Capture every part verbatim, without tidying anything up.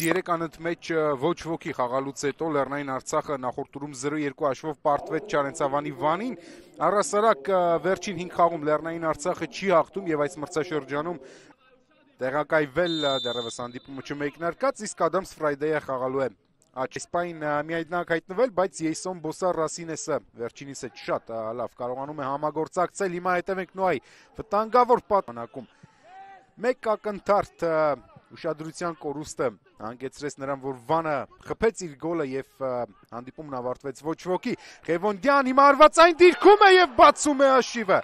երեք անընդմեջ ոչ ոքի խաղալուց հետո Լեռնային Արցախը նախորդ տուրում զրո երկու հաշվով պարտվեց Չարենցավանի Վանին։ Առհասարակ վերջին հինգ խաղում Լեռնային Արցախը չի հաղթում եւ այս մրցաշրջանում տեղակայվել դեռևս հանդիպումը չմեկնարկած, իսկ Ադամս Ֆրայդեյը խաղալու է Աչեսպային միայնակ հայտնվել, բայց Յեյսոն Բոսար Ռասինեսը վերջինիս հետ շատ լավ կարողանում է համագործակցել։ Հիմա հետևենք Նոյի վտանգավոր պատանակում մեկ ակնթարթ ուշադրության կորուստը հանգեցրեց նրան, որ Վանը խփեց իր գոլը եւ հանդիպումն ավարտվեց ոչ ոքի։ Ղևոնդյան հիմա արվածային դիրքում է եւ բացում է հաշիվը։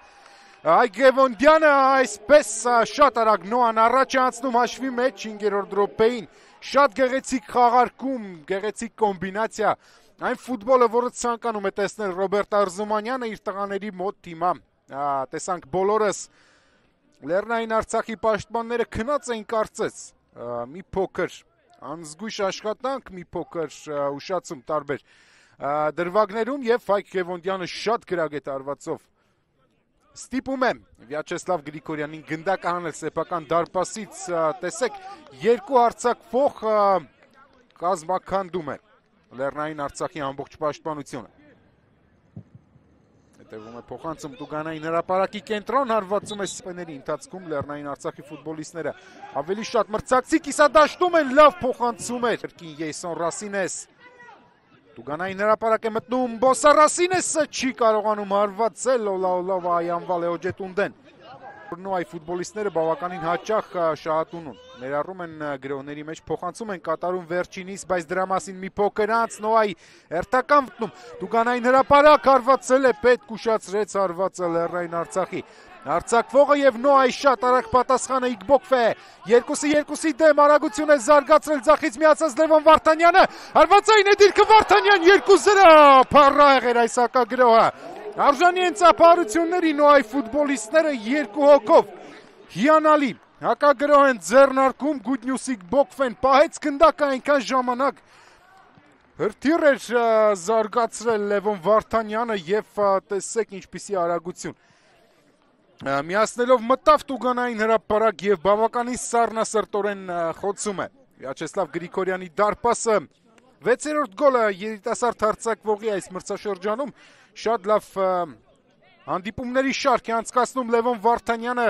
Այ Ղևոնդյանը այսպես շատ արագ Նոան առաջ է անցնում հաշվի մեջ հինգերորդ րոպեին։ Շատ գեղեցիկ խաղարկում, գեղեցիկ կոմբինացիա, այն ֆուտբոլը, որը ցանկանում է տեսնել Ռոբերտ Արզումանյանը իր տղաների մոտ հիմա տեսանք բոլորս Լեռնային Արցախի պաշտպանները քնած էին կարծես մի փոքր անզգույշ աշխատանք, մի փոքր ուշացում տարբեր դրվագներում եւ Ֆայկ Ղևոնդյանը շատ գրագետ արվածով ստիպում է Վյաչեսլավ Գրիգորյանին գնդակ անել սեփական դարպասից, տեսեք երկու արձակվող կազմաքանդում է Լեռնային Արցախի ամբողջ պաշտպանությունը։ Հետևում է փոխանցում Տուգանային հրապարակի կենտրոն, հարվածում է սպեների ընթացքում Լեռնային Արցախի ֆուտբոլիստները ավելի շատ մրցակցի կիսադաշտում են, լավ փոխանցում է Կրկին Յեյսոն Ռասինես։ Տուգանային հրապարակ է մտնում Բոսար Ռասինեսը չի կարողանում հարվածել Լոլա Այանվալ Էոջետունդեն։ Նոյի ֆուտբոլիստները բավականին հաճախ շահատուն ունեն, ներառում են գրոհների մեջ, փոխանցում են կատարում վերջինիս, բայց դրա մասին մի փոքր անց Նոյի հերթական մտնում Տուգանային հրապարակ հարվածել է, պետք ուշացրեց հարվածը Լեռնային Արցախի Արձակվողը եւ Նոյի շատ արագ պատասխանը Իգբոկվե երկուսի երկուսի դեմ արագություն է զարգացրել ձախից միացած Լևոն Վարդանյանը հարվածային է դիրքը Վարդանյան երկու զրո փառահեղ էր այս հակագրոհը արժանի են ծափարությունների Նոյի ֆուտբոլիստները երկու հոգով հիանալի հակագրոհ են ձեռնարկում Գուդնյուս Իգբոկվեն պահեց գնդակը այնքան ժամանակ հրթիռ էր զարգացրել Լևոն Վարդանյանը եւ տեսեք ինչպիսի արագություն միացնելով մտավ Տուգանային հրապարակ եւ բավականին սառնասրտորեն խոցում է Վյաչեսլավ Գրիգորյանի դարպասը վեցերորդ գոլը երիտասարդ հարձակվողի այս մրցաշրջանում շատ լավ հանդիպումների շարք է անցկացնում Լևոն Վարդանյանը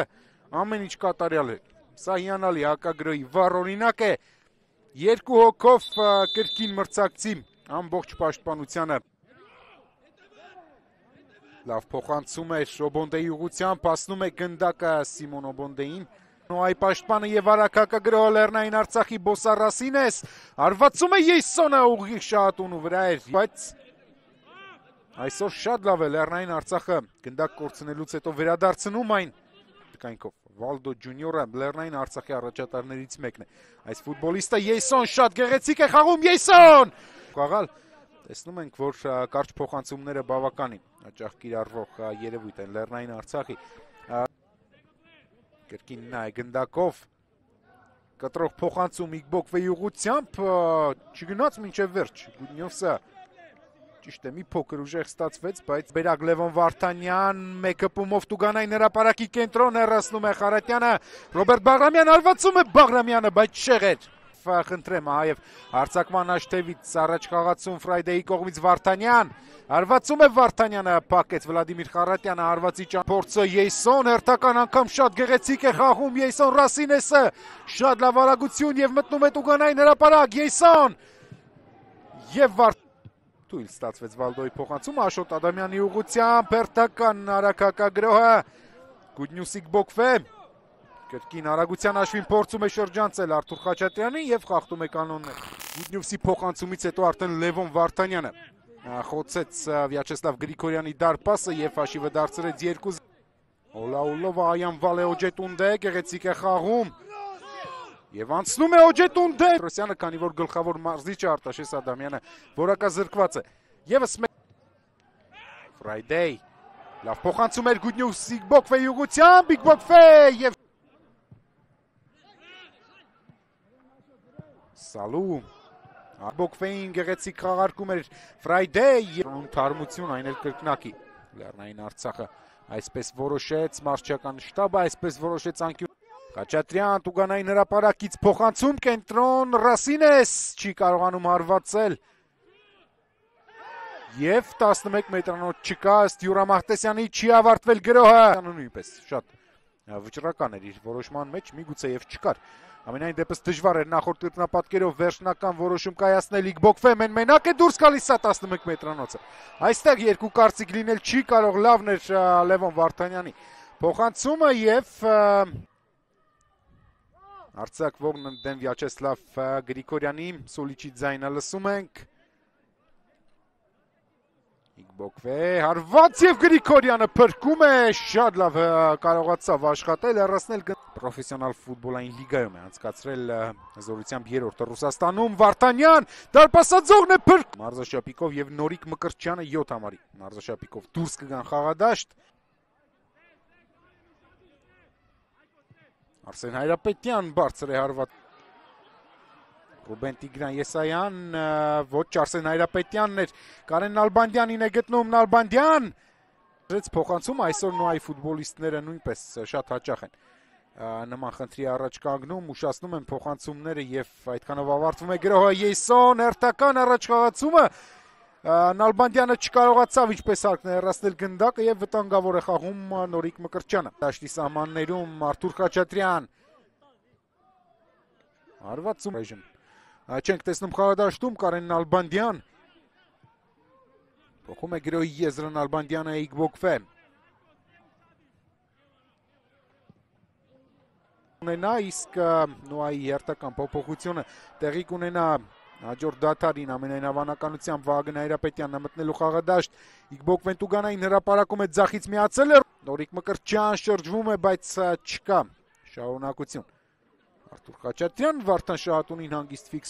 ամեն ինչ կատարյալ է սա հիանալի հակագրոհի վառ օրինակ է երկու հոգով կրկին մրցակցի ամբողջ պաշտպանությանը Լավ փոխանցում է Օբոնդեի ուղղությամբ, հասնում է գնդակը Սիմոն Օբոնդեին։ Նոյի պաշտպանը եւ արագ հակագրոհ Լեռնային Արցախի Բոսար Ռասինես, հարվածում է Յեյսոնը ուղիղ շահատունու վրա էր, բայց այսօր շատ լավ է Լեռնային Արցախը գնդակ կորցնելուց հետո վերադարձնում այն տկայնքով։ Վալդո Ջունիորը Լեռնային Արցախի առաջատարներից մեկն է։ Այս ֆուտբոլիստը Յեյսոն շատ գեղեցիկ է խաղում Յեյսոն։ Խաղալ Տեսնում ենք, որ կարճ փոխանցումները բավականին հաճախ կիրառվող երևույթ են Լեռնային Արցախի կրկին նա է գնդակով կտրող փոխանցում Իգբոկվեի ուղղությամբ չգնաց մինչև վերջ Գուդնյովսը ճիշտ է մի փոքր ուժեղ ստացվեց, բայց Բերակ Լևոն Վարդանյան մեկ հպումով Տուգանային հրապարակի կենտրոն հեռացնում է Խարատյանը Ռոբերտ Բաղրամյան հարվածում է Բաղրամյանը, բայց շեղեր խնդրեմ այև հարցակման աշտևից առաջ խաղացում Ֆրայդեի կողմից Վարդանյան հարվածում է Վարդանյանը փակեց Վլադիմիր Խարատյանը հարվածի փորձը Յեյսոն հերթական անգամ շատ գեղեցիկ է խաղում Յեյսոն Ռասինեսը շատ լավ արագություն եւ մտնում է Տուգանային հրապարակ Յեյսոն եւ Թույլ ստացվեց Վալդոյի փոխանցումը Աշոտ Ադամյանի ուղղությամբ հերթական արագ հակագրոհը Գուդնյուս Իգբոկվե Կրկին արագության հաշվին փորձում է շրջանցել Արթուր Խաչատրյանին եւ խախտում է կանոնները։ Գուդնյուվսի փոխանցումից հետո արդեն Լևոն Վարդանյանը խոցեց Վյաչեսլավ Գրիգորյանի դարպասը եւ հաշիվը դարձրեց երկու Օլաուլովա Այանվալ Էոջետունդե գեղեցիկ է խաղում եւ անցնում է Օջետունդե Ռոսյանը քանի որ գլխավոր մարզիչը Արտաշես Ադամյանը որակազրկված է եւս Ֆրայդեյ լավ փոխանցում էր Գուդնյուս Իգբոկվեի ուղղությամբ Իգբոկվե եւ Սալու Իգբոկվեին գեղեցիկ խաղարկում էր Ֆրայդեյ թարմություն այն էլ կրկնակի Լեռնային Արցախը այսպես որոշեց մարզչական շտաբը այսպես որոշեց անկյուն Խաչատրյան Տուգանային հրապարակից փոխանցում կենտրոն Ռասինես չի կարողանում հարվածել եւ տասնմեկ մետրանոց չկա ըստ Յուրա Մահտեսյանի չի ավարտվել գրոհը նույնպես շատ վճռական էր իր որոշման մեջ միգուցե եւ չկար ամենայն դեպս դժվար էր նախորդ տրտնապատկերով վերջնական որոշում կայացնել Իգբոկվե մեն մենակ է դուրս գալիս սա տասնմեկ մետրանոցը այստեղ երկու կարծիք լինել չի կարող լավն էր Լևոն Վարդանյանի փոխանցումը եւ արձակվողն դեմ Վյաչեսլավ Գրիգորյանի Սոլիչի ձայնը լսում ենք Իգբոկվե հարված եւ Գրիգորյանը փրկում է շատ լավ կարողացավ աշխատել հեռացնել պրոֆեսիոնալ ֆուտբոլային լիգայում է անցկացրել զորությամբ երրորդը Ռուսաստանում Վարդանյան դարպասաձողն է փրկ Մարզաշապիկով եւ Նորիկ Մկրտչյանը յոթ համարի Մարզաշապիկով դուրս կգան խաղադաշտ Արսեն Հայրապետյան բարձր է հարված Ռուբեն Տիգրան Եսայան ոչ Արսեն Հայրապետյանն էր Կարեն Նալբանդյանին է գտնում Նալբանդյան փոխանցում այսօր նոյի ֆուտբոլիստները նույնպես շատ հաճախ են նման խնդրի առաջ կանգնում ուշացնում են փոխանցումները եւ այդքանով ավարտվում է գրոհը Յեյսոն հերթական առաջխաղացումը Նալբանդյանը չկարողացավ ինչպես արկն է հեռացնել գնդակը եւ վտանգավոր է խաղում Նորիկ Մկրտչյանը դաշտի սահմաններում Արթուր Խաչատրյան հարվածում չենք տեսնում խաղադաշտում Կարեն Նալբանդյան փոխում է գրոհի եզրը Նալբանդյանը Իգբոկվե ունենա իսկ նոյի հերթական փոփոխությունը տեղի կունենա հաջորդ դադարին ամենայն հավանականությամբ Վահագն Հայրապետյանն մտնելու խաղադաշտ Իգբոկվեն Տուգանային հրապարակում է ձախից միացել է Նորիկ Մկրտչյան շրջվում է բայց չկա շարունակություն Արթուր Խաչատրյան Վարդան Շահատունին հանգիստ ֆիքս